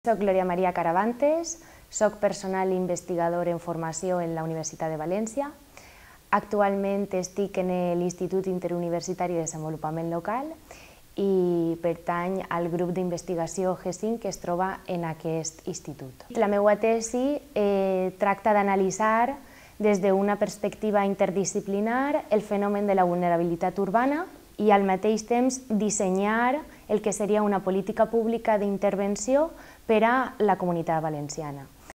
Soc Glòria Maria Caravantes, soc personal investigador en formació en la Universitat de València. Actualment estic en l'Institut Interuniversitari de Desenvolupament Local i pertany al grup d'investigació G5 que es troba en aquest institut. La meva tesi tracta d'analitzar des d'una perspectiva interdisciplinar el fenomen de la vulnerabilitat urbana i al mateix temps dissenyar el que seria una política pública d'intervenció per a la Comunitat Valenciana.